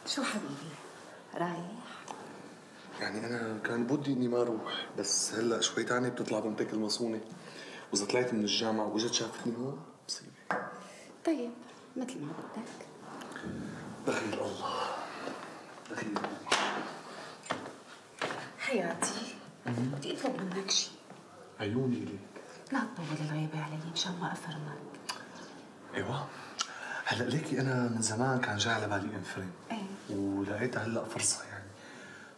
شو حبيبي؟ رايح؟ يعني أنا كان بدي إني ما أروح، بس هلأ شوي تاني بتطلع بنتك المصونة، وإذا طلعت من الجامعة وإجت شافتني هون مصيبة. طيب مثل ما بدك. دخيل الله، دخيل. حياتي بدي أطلب منك شيء. عيوني إليك. لا تطول الغيبة علي مشان ما أفرمك. أيوة. هلأ ليكي أنا من زمان كان جاي على بالي انفرم. إيه. ولقيتها هلأ فرصة يعني.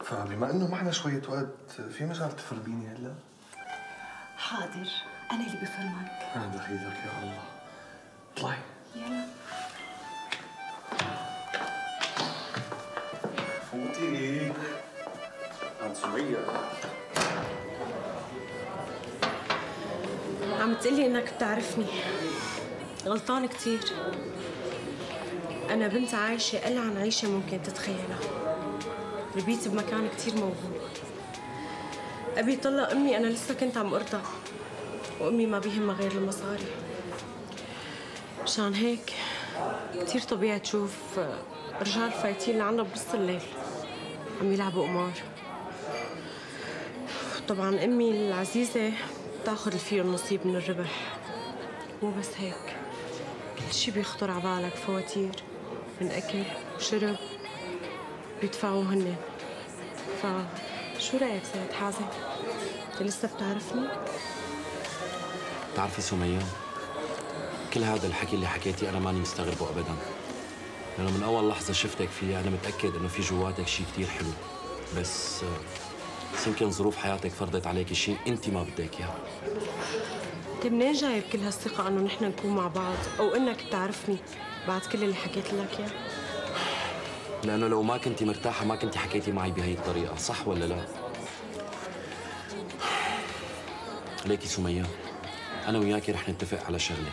فبما إنه معنا شوية وقت، في مجال تفرميني هلأ؟ حاضر، أنا اللي بفرمك. دخيلك يا الله. اطلعي. يلا. فوتي. عم سمية. عم تقلي انك بتعرفني. غلطان كتير. انا بنت عايشة ألعن عيشة ممكن تتخيلها. ربيت بمكان كتير موهوب. ابي طلق امي انا لسه كنت عم ارضع، وامي ما بيهمها غير المصاري. مشان هيك كتير طبيعي تشوف رجال فايتين لعنا بنص الليل عم يلعبوا قمار. طبعا امي العزيزة بتاخذ اللي فيه النصيب من الربح. مو بس هيك، كل شي بيخطر على بالك فواتير من اكل وشرب بيدفعوه هن. فشو رايك سيد حازم؟ انت لسه بتعرفني؟ بتعرفي سمية، كل هذا الحكي اللي حكيتي انا ماني مستغربه ابدا، لانه من اول لحظه شفتك فيها انا متاكد انه في جواتك شيء كثير حلو، بس يمكن ظروف حياتك فرضت عليك شيء انت ما بدك اياه. انت منين جايب كل هالثقه انه نحن نكون مع بعض او انك بتعرفني بعد كل اللي حكيت لك اياه؟ لانه لو ما كنتي مرتاحه ما كنتي حكيتي معي بهي الطريقه، صح ولا لا؟ ليكي سمية، انا وياكي رح نتفق على شغله.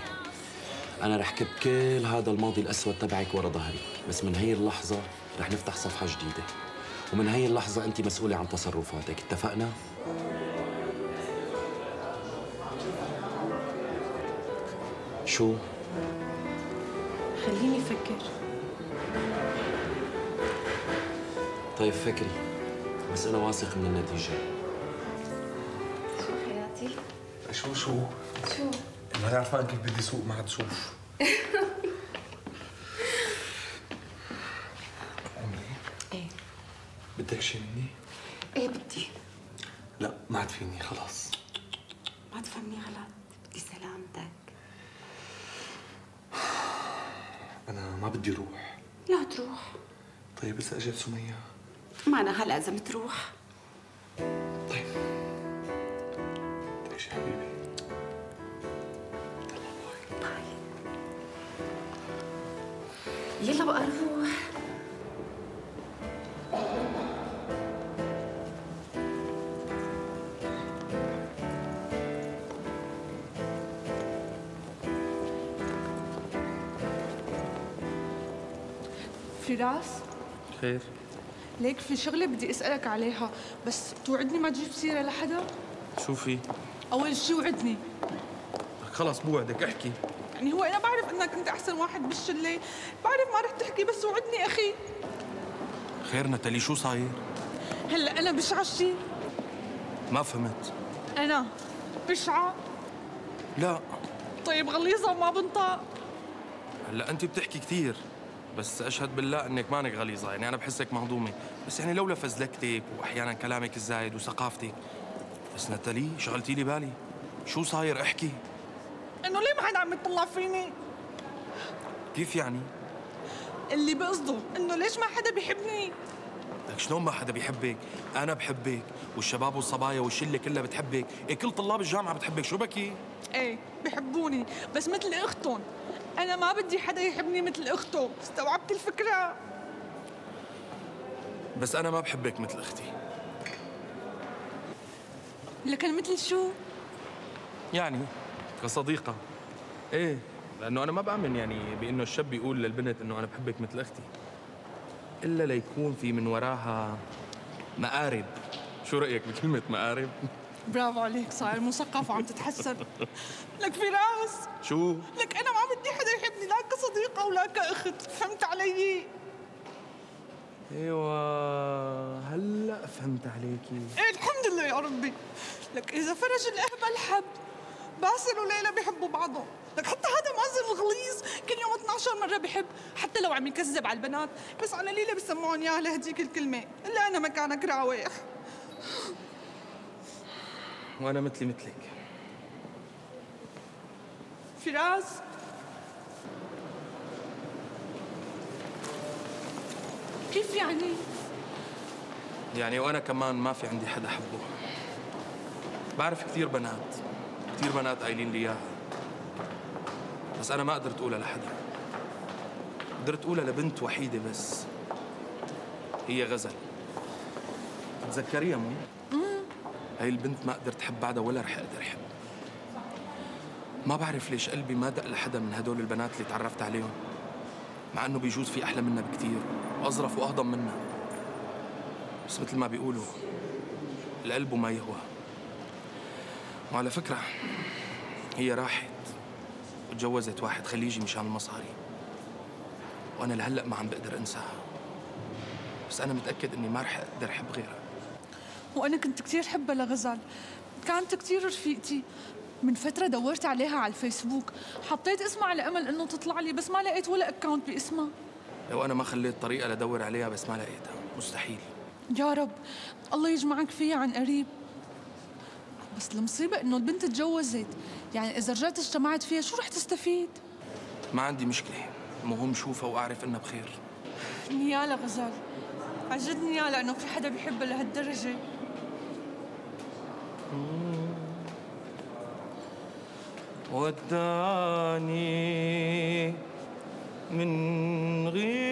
انا رح كب كل هذا الماضي الاسود تبعك ورا ظهري، بس من هي اللحظه رح نفتح صفحه جديده، ومن هي اللحظه انت مسؤوله عن تصرفاتك، اتفقنا؟ شو؟ خليني افكر. طيب فكري، بس انا واثق من النتيجه. شو حياتي؟ شو؟ شو؟ ما عرفان كيف بدي سوق ما تشوف. أمي؟ ايه بدك شي مني؟ ايه بدي. لا ما عاد فيني خلاص. ما تفهمني غلط، بدي سلامتك. أنا ما بدي روح. لا تروح. طيب بس أجت سمية. ما أنا هلا لازم تروح. طيب بدك شي حبيبي؟ يلا بقى نروح. فراس، خير؟ ليك في شغلة بدي أسألك عليها، بس توعدني ما تجيب سيرة لحدا؟ شو في؟ أول شي وعدني. خلص بوعدك، احكي. يعني هو أنا بعرف إنك أنت أحسن واحد بالشلة، بعرف ما رح تحكي، بس وعدني أخي. خير نتالي، شو صاير؟ هلا أنا بشعة شي؟ ما فهمت. أنا بشعة؟ لا. طيب غليظة وما بنطق؟ هلا أنت بتحكي كثير، بس أشهد بالله إنك مانك غليظة، يعني أنا بحسك مهضومة، بس يعني لولا فزلكتك وأحيانا كلامك الزايد وثقافتك. بس نتالي شغلتي لي بالي، شو صاير؟ احكي. إنه ليه ما حدا عم يطلع فيني؟ كيف يعني؟ اللي بقصده إنه ليش ما حدا بيحبني؟ لك شلون ما حدا بيحبك؟ أنا بحبك، والشباب والصبايا والشلة كلها بتحبك، إيه كل طلاب الجامعة بتحبك، شو بكي؟ ايه بحبوني، بس مثل اختهم. انا ما بدي حدا يحبني مثل اخته، استوعبت الفكره؟ بس أنا ما بحبك مثل أختي. لكن مثل شو؟ يعني كصديقة. ايه، لأنه أنا ما بآمن يعني بإنه الشاب يقول للبنت إنه أنا بحبك مثل أختي، إلا ليكون في من وراها مقارب. شو رأيك بكلمة مقارب؟ برافو عليك، صاير مثقف وعم تتحسن. لك فراس، شو؟ لك أنا ما بدي حدا يحبني لا كصديقة ولا كأخت، فهمت علي؟ ايوه هلا فهمت عليكي. ايه الحمد لله يا ربي. لك اذا فرج الاهبل حب، باسل وليلى بيحبوا بعضهم. لك حتى هذا مازن الغليظ كل يوم 12 مره بحب، حتى لو عم يكذب على البنات، بس على ليلى بسمعون اياها لهديك الكلمه. الا انا مكانك راوح. وانا مثلك. فراس كيف يعني وانا كمان ما في عندي حدا حبه. بعرف كثير بنات قايلين لي اياها، بس انا ما قدرت اقولها لحدا. قدرت اقولها لبنت وحيده بس، هي غزل. تتذكريها مو؟ هاي البنت ما قدرت احب بعدها ولا رح اقدر احب. ما بعرف ليش قلبي ما دق لحدا من هدول البنات اللي تعرفت عليهم، مع انه بيجوز في احلى منا بكثير واظرف واهضم منا، بس مثل ما بيقولوا القلب ما يهوى. وعلى فكره هي راحت وتجوزت واحد خليجي مشان المصاري، وانا لهلا ما عم بقدر انساها، بس انا متاكد اني ما رح اقدر احب غيرها. وانا كنت كثير حبها لغزال، كانت كثير رفيقتي. من فترة دورت عليها على الفيسبوك، حطيت اسمها على امل انه تطلع لي، بس ما لقيت ولا اكاونت باسمها. لو انا ما خليت طريقة لدور عليها بس ما لقيتها، مستحيل. يا رب الله يجمعك فيها عن قريب. بس المصيبة انه البنت تجوزت، يعني اذا رجعت اجتمعت فيها شو رح تستفيد؟ ما عندي مشكلة، المهم شوفها واعرف انها بخير. نيالا غزال، عجبني نيالا انه في حدا بيحبها لهالدرجة. وداني من غير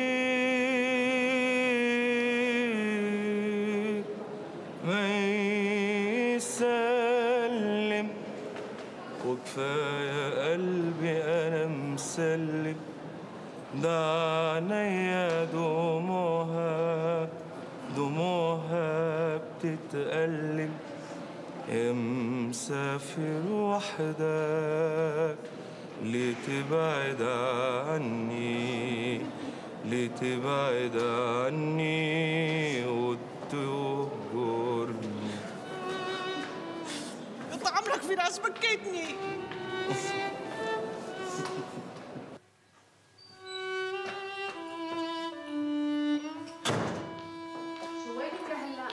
ما يسلم، وكفاية قلبي أنا مسلم، ده عينيا دموعها بتتألم. يا مسافر وحدك ليه تبعد عني وتهجرني. قطع عمرك فراس، بكيتني. شو وينك لهلا؟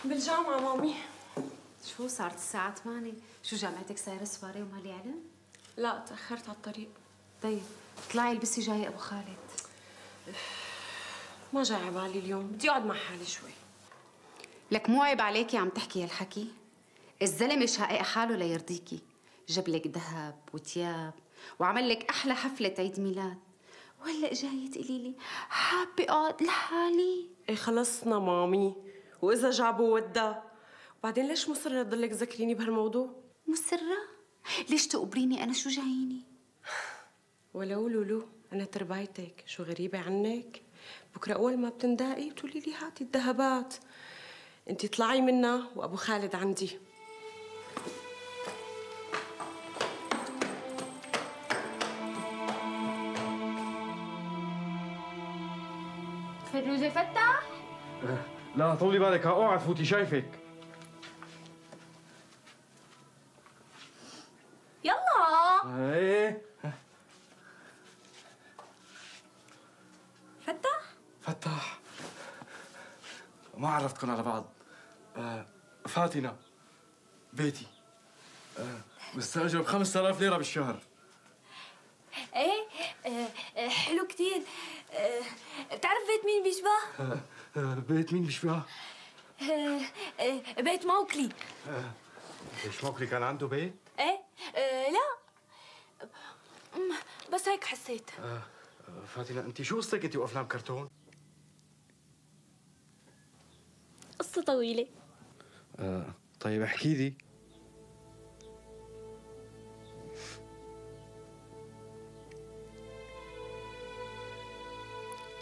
بالجامعة مامي. شو صارت الساعة 8؟ شو جامعتك صايرة سواري وما لي علم؟ لا تأخرت على الطريق. طيب اطلعي البسي جاي ابو خالد. ما جاي على بالي اليوم، بدي اقعد مع حالي شوي. لك مو عيب عليكي عم تحكي هالحكي؟ الزلمة شقق حاله ليرضيكي، جاب لك ذهب وتياب وعمل لك احلى حفلة عيد ميلاد، وهلا جاية تقولي لي حابة اقعد لحالي؟ ايه خلصنا مامي، واذا جابوا ودا، وبعدين ليش مصرة تضلك تذكريني بهالموضوع؟ مسرة؟ ليش تقبريني انا؟ شو جاييني؟ ولو لولو انا تربايتك، شو غريبة عنك؟ بكره اول ما بتندقي بتقولي لي هاتي الذهبات. انت اطلعي منا وابو خالد عندي. فيروزة فتح؟ لا طولي بالك، اوعى تفوتي، شايفك. يلا ايه فتح ما عرفتكم على بعض. فاتنة بيتي، مستأجر ب 5000 ليرة بالشهر. ايه حلو كتير. بتعرف بيت مين بيشبه؟ بيت مين بيشبه؟ بيت موكلي. ليش موكلي كان عنده بيت؟ ايه لا بس هيك حسيت. فاتنة انت شو قصتك انت وافلام كرتون؟ قصة طويلة. طيب احكي لي.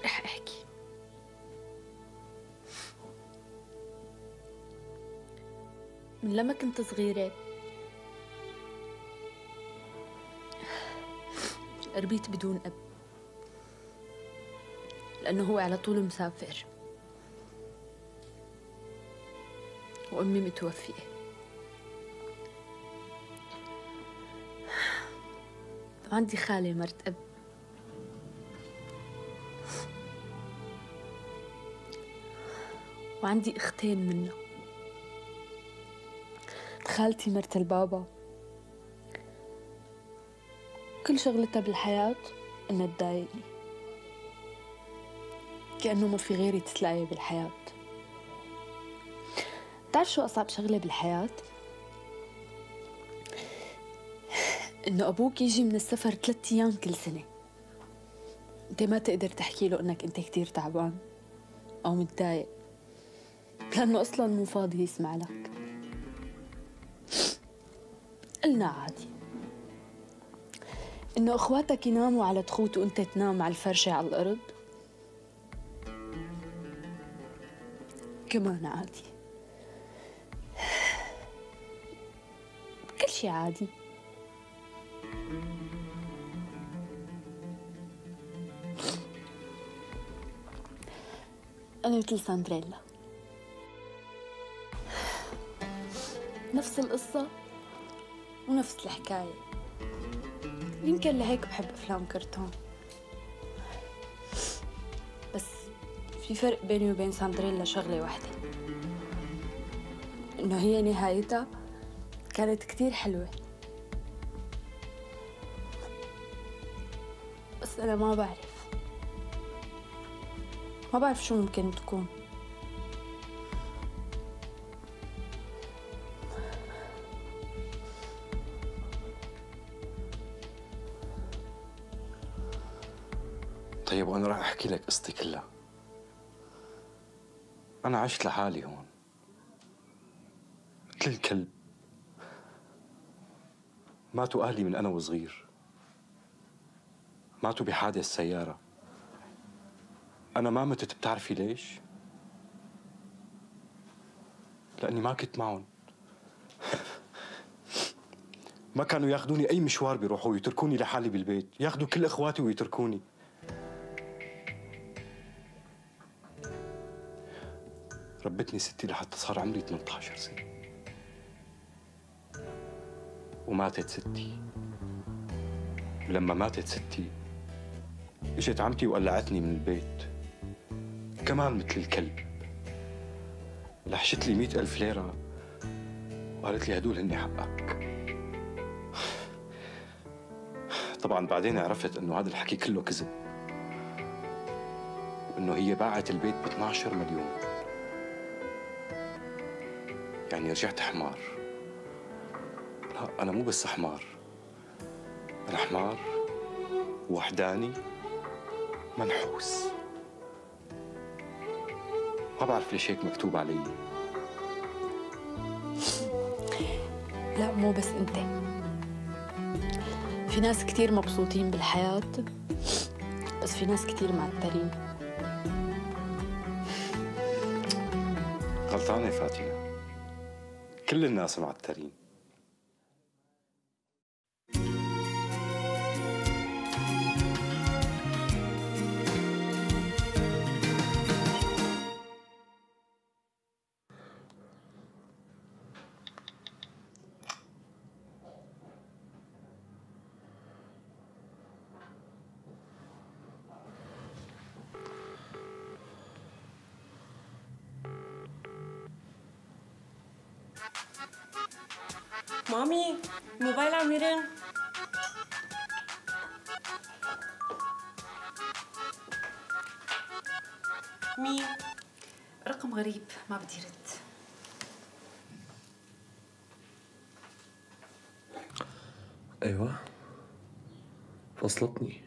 رح احكي. من لما كنت صغيرة ربيت بدون أب. لأنه هو على طول مسافر، وأمي متوفية. وعندي خالة مرت أب، وعندي أختين منها. خالتي مرت البابا كل شغلتها بالحياة إنها تضايقني، كأنه ما في غيري تتلاقي بالحياة. بتعرف شو أصعب شغلة بالحياة؟ إنه أبوك يجي من السفر 3 أيام كل سنة، أنت ما تقدر تحكي له إنك أنت كتير تعبان أو متضايق، لأنه أصلاً مو فاضي يسمع لك. قلنا عادي إنه إخواتك يناموا على تخوت وأنت تنام على الفرشة على الأرض، كمان عادي. كل شي عادي. أنا مثل ساندريلا، نفس القصة ونفس الحكاية. يمكن لهيك بحب أفلام كرتون، بس في فرق بيني وبين ساندريلا شغلة واحدة، إنه هي نهايتها كانت كتير حلوة، بس أنا ما بعرف شو ممكن تكون. طيب وأنا راح أحكي لك قصتي كلها. أنا عشت لحالي هون مثل الكلب. ماتوا أهلي من أنا وصغير، ماتوا بحادث سيارة. أنا ما متت، بتعرفي ليش؟ لأني ما كنت معهم. ما كانوا ياخذوني أي مشوار بيروحوا ويتركوني لحالي بالبيت، ياخذوا كل إخواتي ويتركوني. ربتني ستي لحتى صار عمري 18 سنة، وماتت ستي. ولما ماتت ستي اجت عمتي وقلعتني من البيت كمان مثل الكلب. لحشت لي 100,000 ليرة وقالت لي هدول هني حقك. طبعا بعدين عرفت انه هذا الحكي كله كذب، وانه هي باعت البيت ب 12 مليون. يعني رجعت حمار. لا، أنا مو بس حمار، أنا حمار وحداني منحوس. ما بعرف ليش هيك مكتوب علي. لا، مو بس أنت، في ناس كتير مبسوطين بالحياة، بس في ناس كتير معترين. غلطانة فاطمة، كل الناس معترين. مامي، الموبايل عم يرن. مين؟ رقم غريب ما بدي رد. ايوه فصلتني،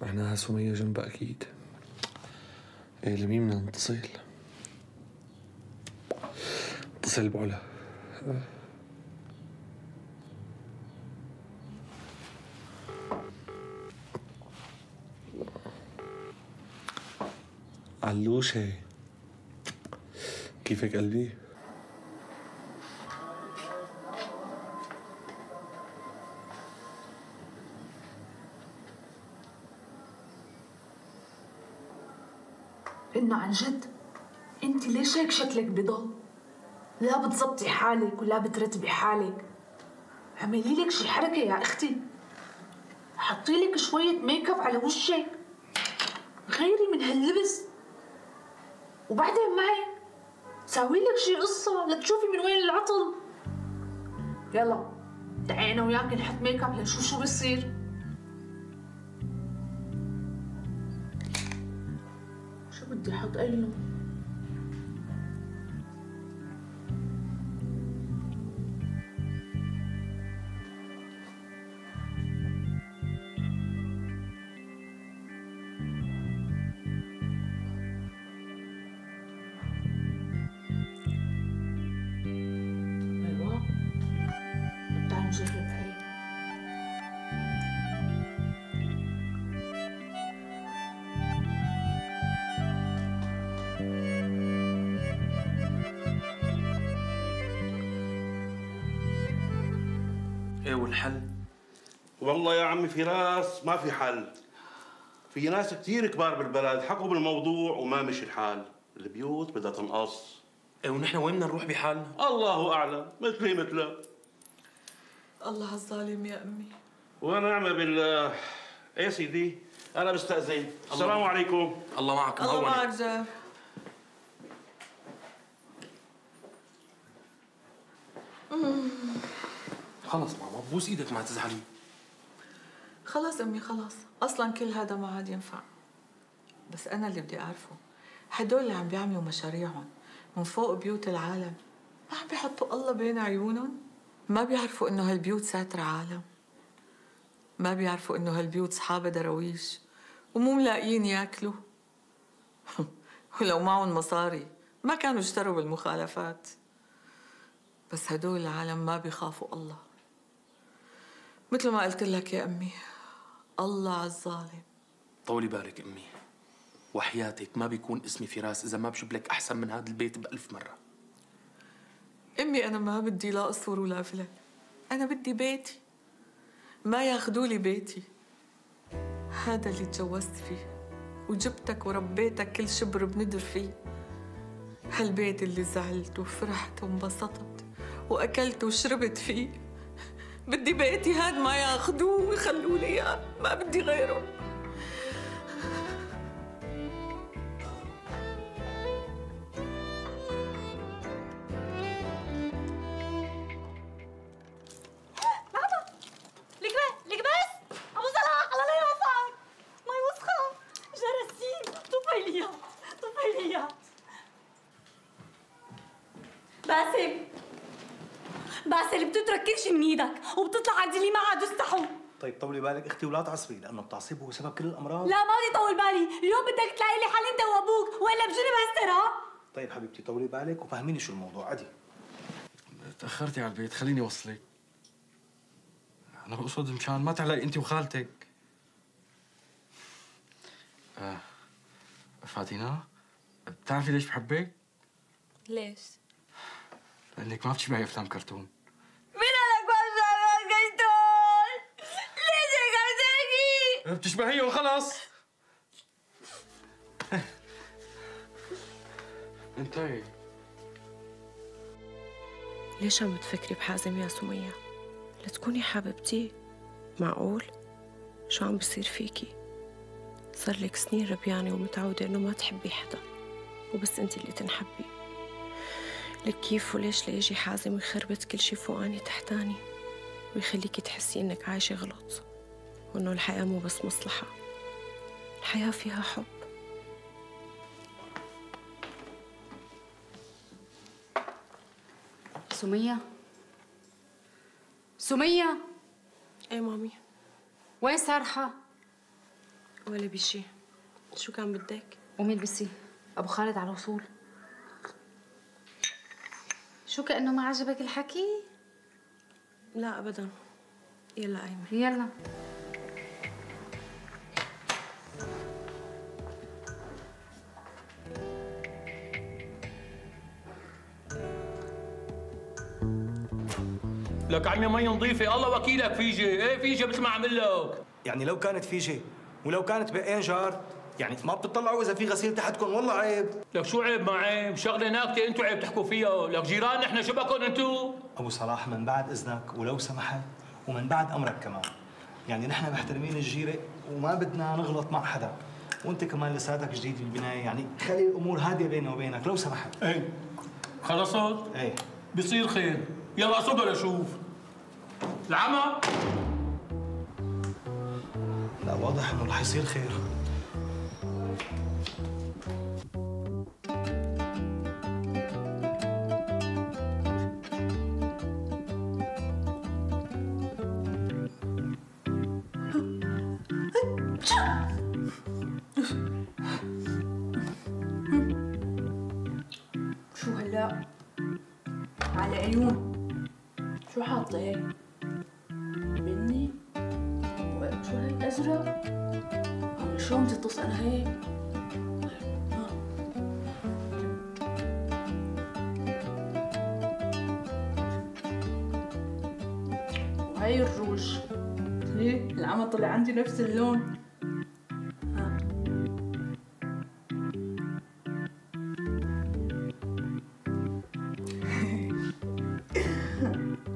معناها سمية جنبها اكيد. ايه لمين بدنا نتصل؟ اتصل بعلا. علوشة، كيفك قلبي؟ إنه عن جد انت ليش هيك شكلك بضل؟ لا بتزبطي حالك ولا بترتبي حالك. اعملي لك شي حركة يا اختي، حطي لك شوية ميك اب على وشك، غيري من هاللبس، وبعدين معي ساوي لك شي قصة لتشوفي من وين العطل. يلا تعي انا وياك نحط ميك اب لنشوف شو بصير. شو بدي احط اي لون؟ ايه والحل؟ والله يا عمي فراس ما في حل. في ناس كثير كبار بالبلد حكوا بالموضوع وما مشي الحال، البيوت بدها تنقص. ايه ونحن وين بدنا نروح بحالنا؟ الله اعلم، مثلي مثلك. الله الظالم يا امي. ونعم بالله. ايه سيدي انا بستأذن. السلام عليكم. الله معك. الله معك جار. خلص ماما بوس ايدك ما تزعلي. خلص امي خلص، اصلا كل هذا ما عاد ينفع. بس انا اللي بدي اعرفه، هدول اللي عم بيعملوا مشاريعهم من فوق بيوت العالم ما عم بيحطوا الله بين عيونهم؟ ما بيعرفوا انه هالبيوت ساتر عالم؟ ما بيعرفوا انه هالبيوت صحابة دراويش ومو ملاقيين ياكلوا؟ ولو معهم مصاري ما كانوا اشتروا بالمخالفات. بس هدول العالم ما بيخافوا الله. مثل ما قلت لك يا أمي، الله على الظالم. طولي بالك أمي، وحياتك ما بيكون اسمي فراس إذا ما بجيب لك أحسن من هذا البيت ب1000 مرة. أمي أنا ما بدي لا قصور ولا فلك، أنا بدي بيتي، ما ياخدوا لي بيتي. هذا اللي تجوزت فيه وجبتك وربيتك كل شبر بندر فيه. هالبيت اللي زعلت وفرحت وانبسطت وأكلت وشربت فيه. بدي بيتي هاد ما ياخدوه ويخلوا لي اياه، ما بدي غيره. ماما لك بس ابو صلاح الله لا يوفقك. مي وسخه، جراثيم، طفيليات. باسل بتترك كل شيء من ايدك وبتطلع على اللي ما عاد يستحوا. طيب طولي بالك اختي ولا تعصبي، لانه التعصيب هو سبب كل الامراض. لا ما بدي طول بالي، اليوم بدك تلاقي لي حل انت وابوك والا بجرب هستر. ها طيب حبيبتي طولي بالك وفهميني شو الموضوع. عدي تاخرتي على البيت، خليني اوصلك. انا بقصد مشان ما تعلقي انت وخالتك. فاتينا، بتعرفي ليش بحبك؟ ليش؟ لانك ما بتشبهي افلام كرتون. مين قالك ما بشبه كرتون؟ ليش هيك عم تحكي؟ بتشبهيهم خلص. انتهي. ليش عم تفكري بحازم يا سمية؟ لتكوني حبيبتي؟ معقول؟ شو عم بصير فيكي؟ صار لك سنين ربيانة ومتعودة إنه ما تحبي حدا وبس أنت اللي تنحبي. لك كيف وليش ليجي حازم ويخربط كل شي فوقاني تحتاني ويخليكي تحسي إنك عايشة غلط وإنه الحياة مو بس مصلحة، الحياة فيها حب. سمية ايه مامي؟ وين سارحة؟ ولا بشي. شو كان بدك؟ قومي البسي، ابو خالد على الوصول. شو كأنه ما عجبك الحكي؟ لا ابدا. يلا قايمة. يلا. لك عمي مي نظيفة، الله وكيلك فيجي، ايه فيجي مثل ما عمل لك. يعني لو كانت فيجي ولو كانت بقين جار يعني ما بتطلعوا اذا في غسيل تحتكم؟ والله عيب. لك شو عيب ما عيب؟ شغله ناكته انتوا عيب تحكوا فيها، لك جيران نحن شو بكون انتوا؟ ابو صلاح من بعد اذنك ولو سمحت ومن بعد امرك كمان، يعني نحن محترمين الجيره وما بدنا نغلط مع حدا، وانت كمان لساتك جديد بالبنايه، يعني خلي الامور هاديه بيني وبينك لو سمحت. ايه خلصت؟ ايه بيصير خير، يلا صدوا لشوف. العمى لا واضح انه رح يصير خير. شو هلا؟ على عيون. شو حاطة هيك؟ مني؟ شو هيك أزرق؟ شلون بتطص أنا هيك؟ وهي الروج. ليه؟ العمى طلع عندي نفس اللون.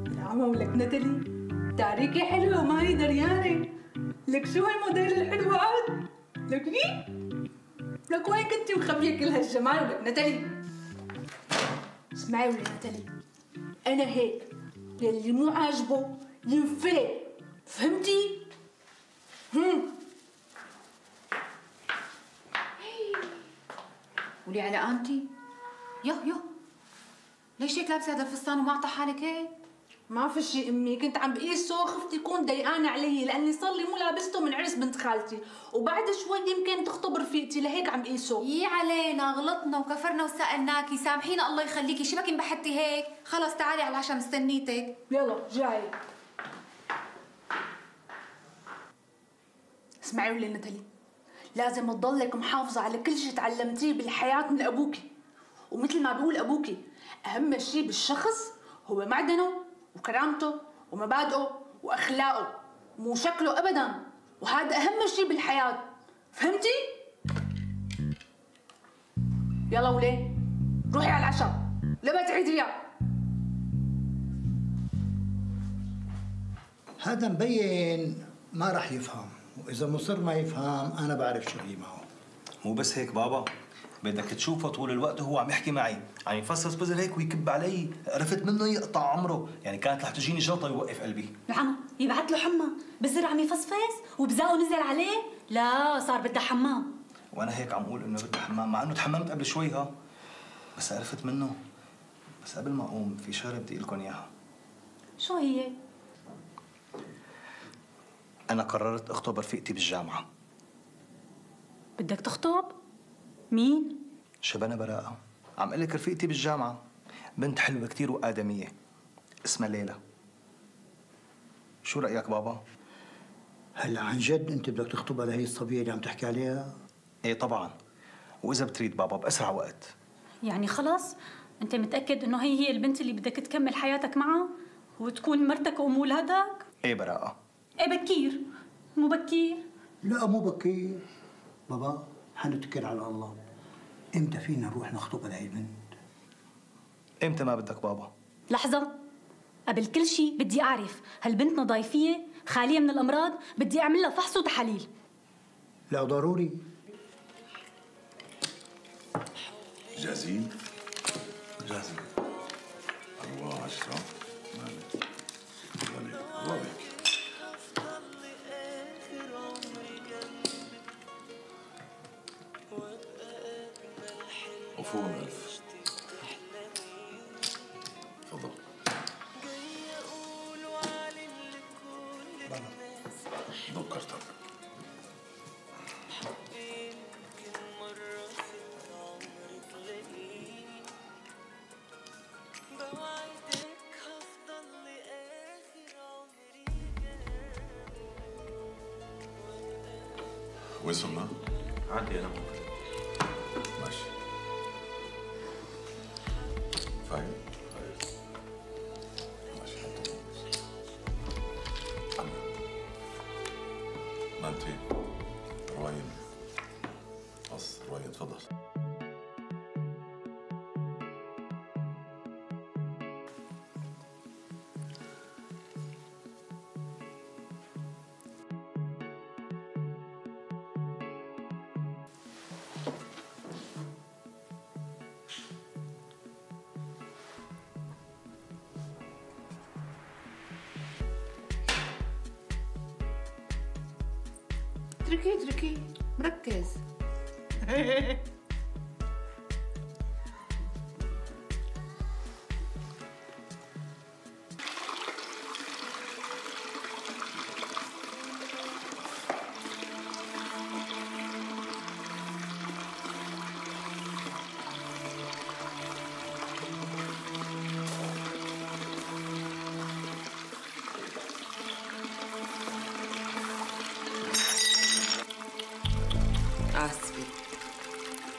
العمى ولك نتالي تعريكي حلوة وما هي دريانة. لك شو هالموديل الحلو عاد؟ لك ليه؟ لك وين كنتي مخبية كل هالجمال ولك نتالي؟ اسمعي ولك نتالي، أنا هيك يلي مو عاجبه ينفلت، فهمتي؟ ولي على قامتي؟ يو ليش هيك لابسه هذا الفستان ومعطى حالك هيك؟ ما في شيء امي، كنت عم بقيسه خفت يكون ضيقان علي لاني صار لي مو لابسته من عرس بنت خالتي، وبعد شوي يمكن تخطب رفيقتي لهيك عم بقيسه. يي علينا غلطنا وكفرنا وسألناكي، سامحينا الله يخليكي، شو بك انبحتي هيك؟ خلص تعالي على العشاء مستنيتك. يلا جاي. اسمعي ولي نتالي، لازم تضلك محافظة على كل شيء تعلمتيه بالحياة من أبوكي، ومثل ما بقول أبوكي أهم شيء بالشخص هو معدنه وكرامته ومبادئه وأخلاقه، مو شكله أبداً، وهذا أهم شيء بالحياة، فهمتي؟ يلا وليه روحي على العشاء، لا تعيديها. هذا مبين ما رح يفهم، وإذا مصر ما يفهم أنا بعرف شو هي معه. مو بس هيك بابا، بدك تشوفه طول الوقت وهو عم يحكي معي، عم يفصص بزر هيك ويكب علي، عرفت منه يقطع عمره، يعني كانت رح تجيني جلطه يوقف قلبي. العمى يبعث له حمى، بزر عم يفصفص وبزاقه نزل عليه، لا صار بدها حمام. وانا هيك عم اقول انه بدها حمام، مع انه تحممت قبل شوي بس عرفت منه. بس قبل ما اقوم في شغله بدي لكم اياها. شو هي؟ انا قررت اخطب رفيقتي بالجامعه. بدك تخطب؟ مين؟ شبانة براءة، عم اقول لك رفيقتي بالجامعة، بنت حلوة كثير وآدمية، اسمها ليلى. شو رأيك بابا؟ هلا عن جد أنت بدك تخطبها لهي الصبية اللي عم تحكي عليها؟ إيه طبعاً، وإذا بتريد بابا بأسرع وقت. يعني خلص؟ أنت متأكد إنه هي البنت اللي بدك تكمل حياتك معها وتكون مرتك وأم ولادك؟ إيه براءة. إيه بكير، مو بكير؟ لا مو بكير بابا، حنتكل على الله. امتى فينا نروح نخطبها لهي البنت؟ امتى ما بدك بابا؟ لحظة، قبل كل شيء بدي أعرف هالبنت نظايفية خالية من الأمراض؟ بدي أعمل لها فحص وتحاليل. لا ضروري. جاهزين؟ جاهزين. 4 10 الله بيك. عفوا ألف. تفضل. ذكرتك. وين صرنا؟ عندي أنا ماشي. فاهم؟ ماشي حطه. أنا. ما أنتي؟ روايم. اتركيه مركز.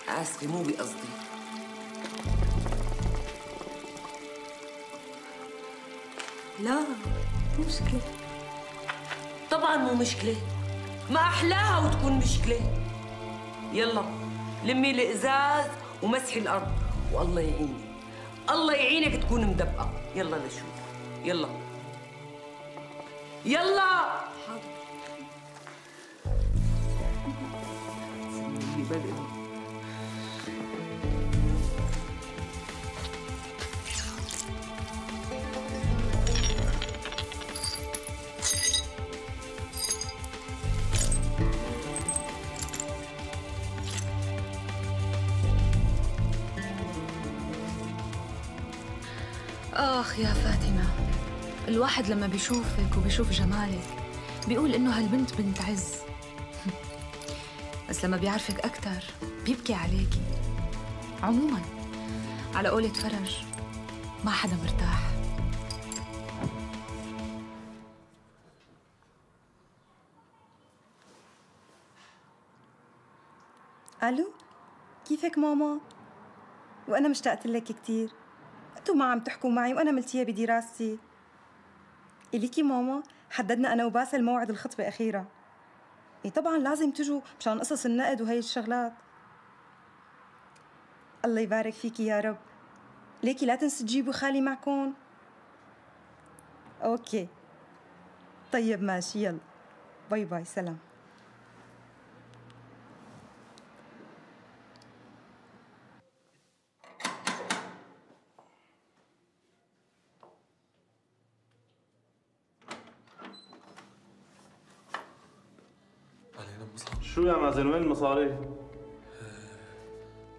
آسفة مو بقصدي. لا مو مشكلة. طبعا مو مشكلة، ما أحلاها وتكون مشكلة. يلا لمي الإزاز ومسحي الأرض والله يعينك، الله يعينك تكون مدبقة. يلا لشوف، يلا يلا. حاضر. آخ يا فاتنة، الواحد لما بيشوفك وبيشوف جمالك بيقول إنه هالبنت بنت عز. بس لما بيعرفك أكتر بيبكي عليكي. عموماً على قولة فرج ما حدا مرتاح. الو، كيفك ماما؟ وانا مشتاقت لك كثير. انتوا ما عم تحكوا معي وانا ملتيه بدراستي. اليكي ماما، حددنا انا وباسل موعد الخطبه اخيرا. ايه طبعا لازم تجوا مشان قصص النقد وهي الشغلات. الله يبارك فيكي يا رب. ليكي لا تنسوا تجيبوا خالي معكم. اوكي طيب ماشي، يلا باي باي، سلام. شو يا مازن، وين المصاري؟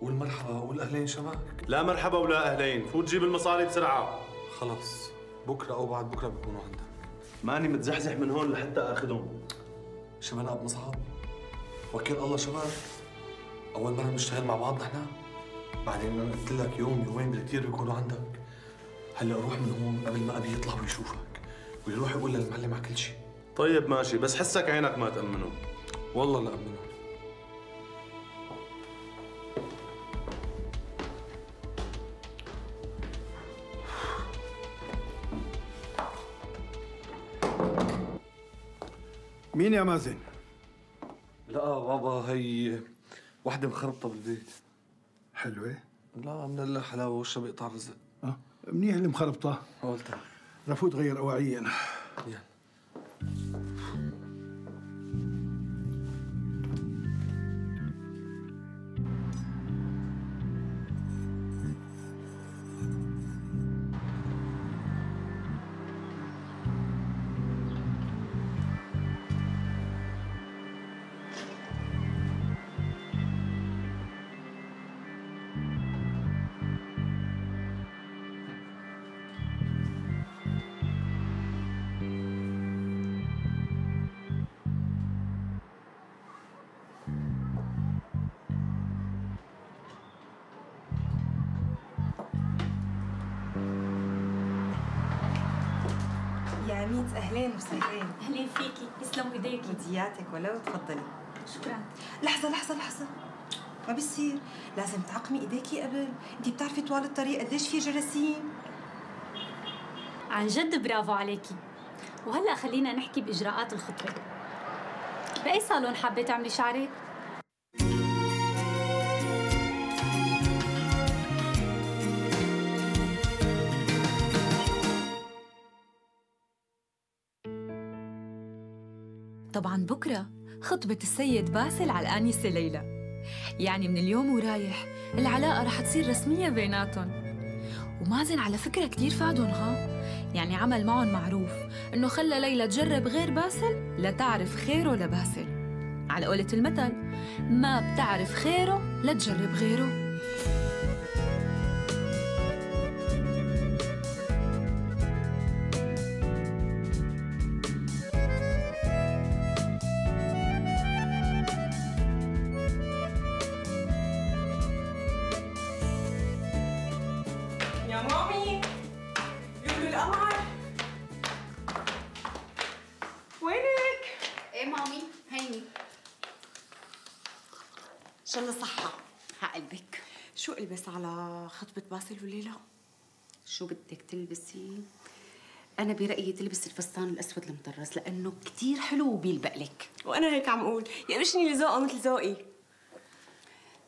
قول مرحبا، قول اهلين شباب. لا مرحبا ولا اهلين، فوت جيب المصاري بسرعه. خلص بكره او بعد بكره بيكونوا عندك. ماني متزحزح من هون لحتى اخذهم. شباب اب مصعب، وكيل الله شباب، اول مره بنشتغل مع بعض نحن. بعدين انا قلت لك يوم يومين بالكثير بيكونوا عندك. هلا روح من هون قبل ما ابي يطلع ويشوفك ويروح يقول للمعلم على كل شيء. طيب ماشي، بس حسك عينك ما تأمنه. والله لا أمنه. مين يا مازن؟ لا بابا، هي وحدة مخربطة بالبيت. حلوة؟ لا من الله حلاوة، وشها بيقطع رزق. منيح اللي مخربطة. قولتها. رفوت غير أواعي أنا. يلا. يا ميت، اهلين وسهلين. اهلين فيكي، يسلموا ايديكي. ودياتك ولو، تفضلي. شكرا. لحظة لحظة لحظة، ما بيصير، لازم تعقمي ايديكي قبل. انتي بتعرفي طوال الطريق قديش في جراثيم. عن جد برافو عليكي. وهلا خلينا نحكي باجراءات الخطبه. باي صالون حابه تعملي شعرك؟ طبعاً بكرة خطبة السيد باسل على الآنسة ليلى. يعني من اليوم ورايح العلاقة رح تصير رسمية بيناتهم. ومازن على فكرة كتير فادهم ها، يعني عمل معهم معروف إنه خلى ليلى تجرب غير باسل لتعرف خيره لباسل. على قولة المثل ما بتعرف خيره لا تجرب غيره. يا مامي لولو القمر وينك؟ ايه مامي هيني. ان شاء الله صحة. عقلبك. شو البس على خطبة باسل وليلى؟ شو بدك تلبسي؟ أنا برأيي تلبسي الفستان الأسود المطرز لأنه كتير حلو وبيلبق لك. وأنا هيك عم أقول يقرشني لذوقه مثل ذوقي.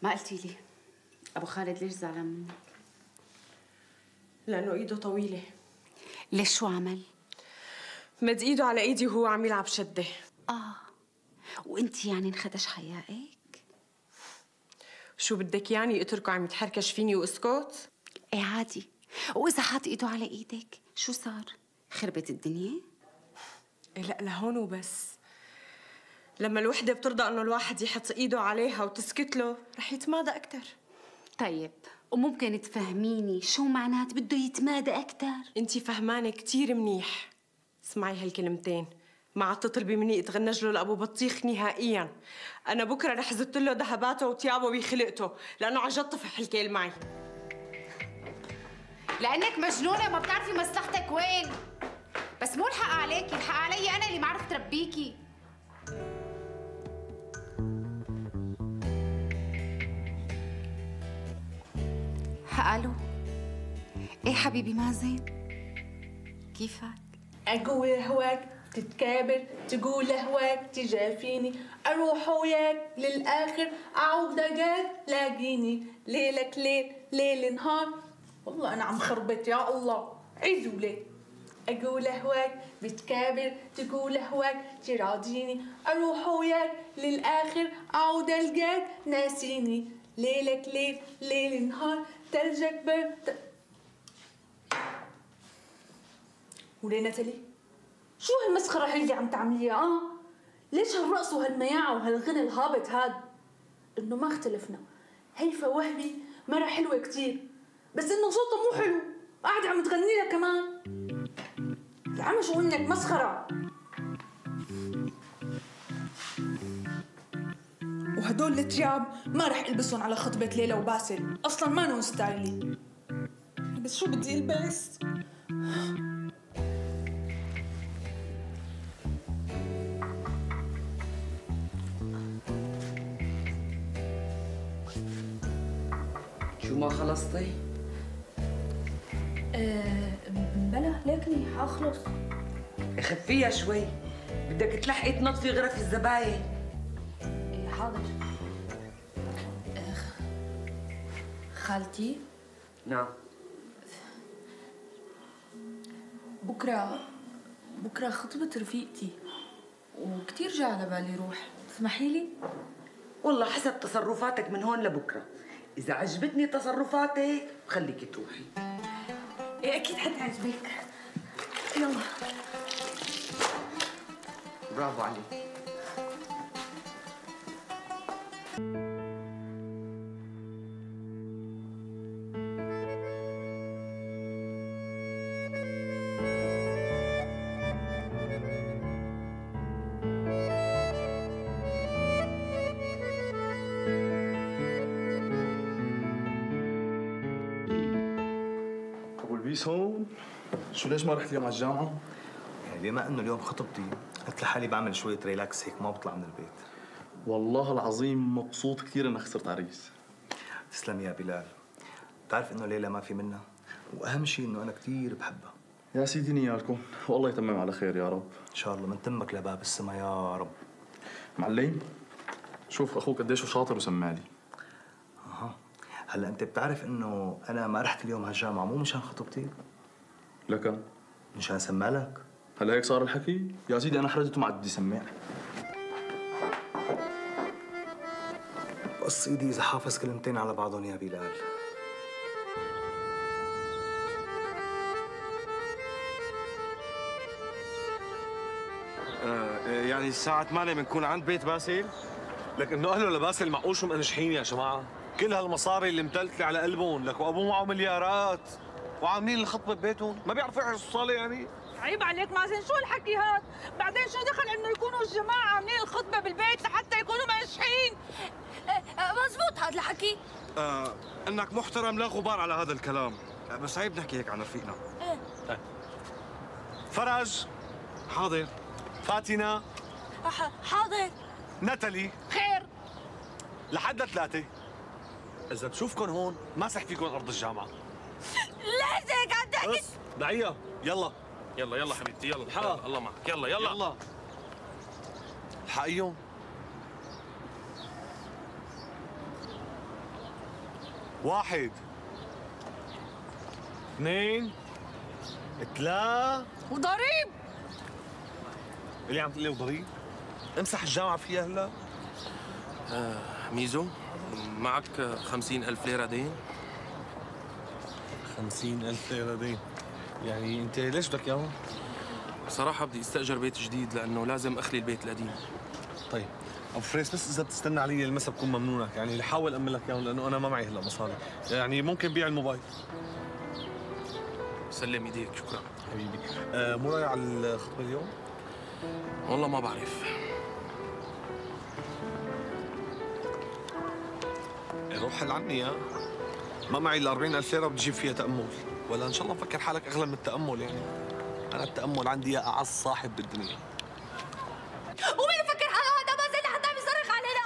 ما قلتي لي أبو خالد ليش زعلان منك؟ لأنه إيده طويلة. ليش شو عمل؟ مد إيده على إيدي وهو عم يلعب شدة. وأنتِ يعني انخدش حيائك؟ شو بدك يعني اتركه عم يتحركش فيني واسكت؟ ايه عادي. وإذا حاط إيده على إيدك شو صار؟ خربت الدنيا؟ إيه لا لهون وبس. لما الوحدة بترضى إنه الواحد يحط إيده عليها وتسكت له رح يتمادى أكتر. طيب وممكن تفهميني شو معنات بده يتمادى أكتر؟ أنتِ فهمانة كتير منيح. اسمعي هالكلمتين، ما عاد تطلبي مني اتغنج له لأبو بطيخ نهائياً. أنا بكرة رح زت له ذهباته وثيابه بخلقته، لأنه عن جد طفح الكيل معي. لأنك مجنونة وما بتعرفي مصلحتك وين. بس مو الحق عليكي، الحق علي أنا اللي ما عرفت ربيكي. ألو. إيه حبيبي مازن؟ كيفك؟ أقول هواك تتكابر تقول هواك تجافيني أروح وياك للآخر أعود دقات لاقيني ليلك ليل ليل نهار. والله أنا عم خربط يا الله. عيد وليه. أقول هواك بتكابر تقول هواك تراضيني أروح وياك للآخر أعود ألقاك ناسيني ليلك ليل ليل نهار تلجك برد. وليه نتلي؟ شو هالمسخرة هي اللي عم تعمليها؟ ليش هالرقص وهالمياعة وهالغنى الهابط هاد؟ إنه ما اختلفنا، هيفا وهبي مرة حلوة كتير، بس إنه صوتها مو حلو، قاعدة عم تغني لها كمان. يا عم شو إنك مسخرة. وهدول التياب ما رح البسهم على خطبة ليلى وباسل، أصلاً ما نون ستايلي. بس شو بدي البس؟ شو ما خلصتي؟ بلا ليكني حاخلص. خفيها شوي، بدك تلحقي تنظفي غرف الزباين. حاضر. خالتي؟ نعم. بكرة خطبة رفيقتي وكتير جا على بالي روح، تسمحي لي؟ والله حسب تصرفاتك من هون لبكرة، إذا عجبتني تصرفاتك بخليكي تروحي. إيه أكيد حتعجبك. يلا. برافو عليك. بيس هون. شو ليش ما رحت اليوم على الجامعة؟ يعني بما انه اليوم خطبتي قلت لحالي بعمل شوية ريلاكس هيك ما بطلع من البيت. والله العظيم مبسوط كثير انك صرت عريس. تسلم يا بلال. بتعرف انه ليلى ما في منها، واهم شيء انه انا كثير بحبها. يا سيدي نيالكم، والله يتمم على خير يا رب. ان شاء الله من تمك لباب السما يا رب. معلم شوف اخوك قديش شاطر وسمالي. هلا انت بتعرف انه انا ما رحت اليوم على الجامعه مو مشان خطبتي، لكن مشان سمالك. هلا هيك صار الحكي؟ يا سيدي انا حرجته ما عاد بدي سمع. بقص ايدي اذا حافظ كلمتين على بعضهم يا بلال. يعني الساعة 8 بنكون عند بيت باسل؟ لك انه اهله لباسل معقول شو منجحين يا جماعه؟ كل هالمصاري اللي متلتلة على قلبهم، لك وابوه معه مليارات وعاملين الخطبه ببيتهم، ما بيعرفوا يحجزوا الصاله يعني؟ عيب عليك مازن، شو الحكي هاد؟ بعدين شو دخل انه يكونوا الجماعه عاملين الخطبه بالبيت لحتى يكونوا منجحين؟ مزبوط هذا الحكي. انك محترم لا غبار على هذا الكلام، بس عيب نحكي هيك عن رفيقنا. ايه فرج حاضر. فاتنة حاضر. ناتالي خير. لحد 3 اذا بشوفكم هون ماسح فيكم ارض الجامعه. ليش هيك عم تحكي؟ دعية يلا يلا حبيبتي يلا الحق الله معك يلا الحقيهم. واحد 2 3 وضريب اللي عم تقول لي وضريب؟ امسح الجامعه فيها هلا. ميزو معك 50,000 ليرة دين؟ 50,000 ليرة دين؟ يعني انت ليش بدك اياهم؟ صراحة بدي استأجر بيت جديد لأنه لازم أخلي البيت القديم. طيب ابو فريس بس اذا بتستنى علي المسا بكون ممنونك، يعني حاول امن لك اياهم لانه انا ما معي هلا مصاري، يعني ممكن بيع الموبايل. سلم ايديك شكرا حبيبي. مو رايح على الخطبة اليوم؟ والله ما بعرف. روح حل عني يا ما معي ال 40,000 ليرة بدي اجيب فيها تأمل، ولا ان شاء الله مفكر حالك اغلى من التأمل يعني. انا التأمل عندي يا اعز صاحب بالدنيا. ومين فكر حاله هذا مازن لحتى عم يصرخ علينا؟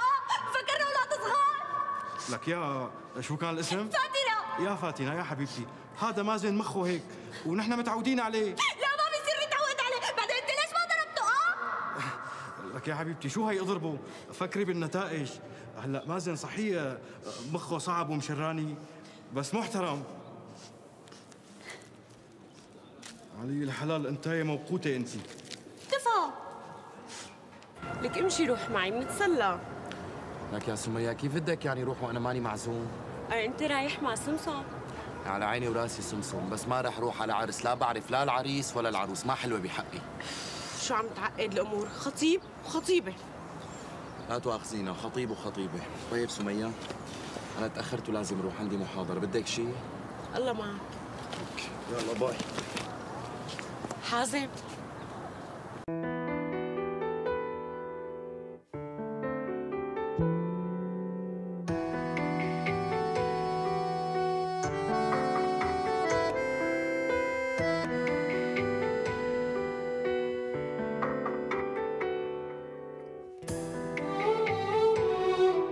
فكرنا اولاد صغار. لك يا شو كان الاسم؟ فاتنة. يا فاتنة يا حبيبتي، هذا مازن مخه هيك ونحن متعودين عليه. لا ما بيصير نتعود عليه، بعدين انت ليش ما ضربته؟ لك يا حبيبتي شو هي اضربه، فكري بالنتائج. هلا مازن صحيح مخه صعب ومشراني بس محترم. علي الحلال انتايه موقوته انت. تفا لك امشي روح معي بنتسلى. لك يا سمية كيف بدك يعني روح وانا ماني معزوم؟ انت رايح مع سمسم. على عيني وراسي سمسم، بس ما رح روح على عرس لا بعرف لا العريس ولا العروس، ما حلوه بحقي. شو عم تعقد الامور؟ خطيب وخطيبه. لا تواخذينا، خطيب وخطيبه. طيب سمية انا تاخرت ولازم اروح عندي محاضره، بدك شيء؟ الله معك. يلا باي. حازم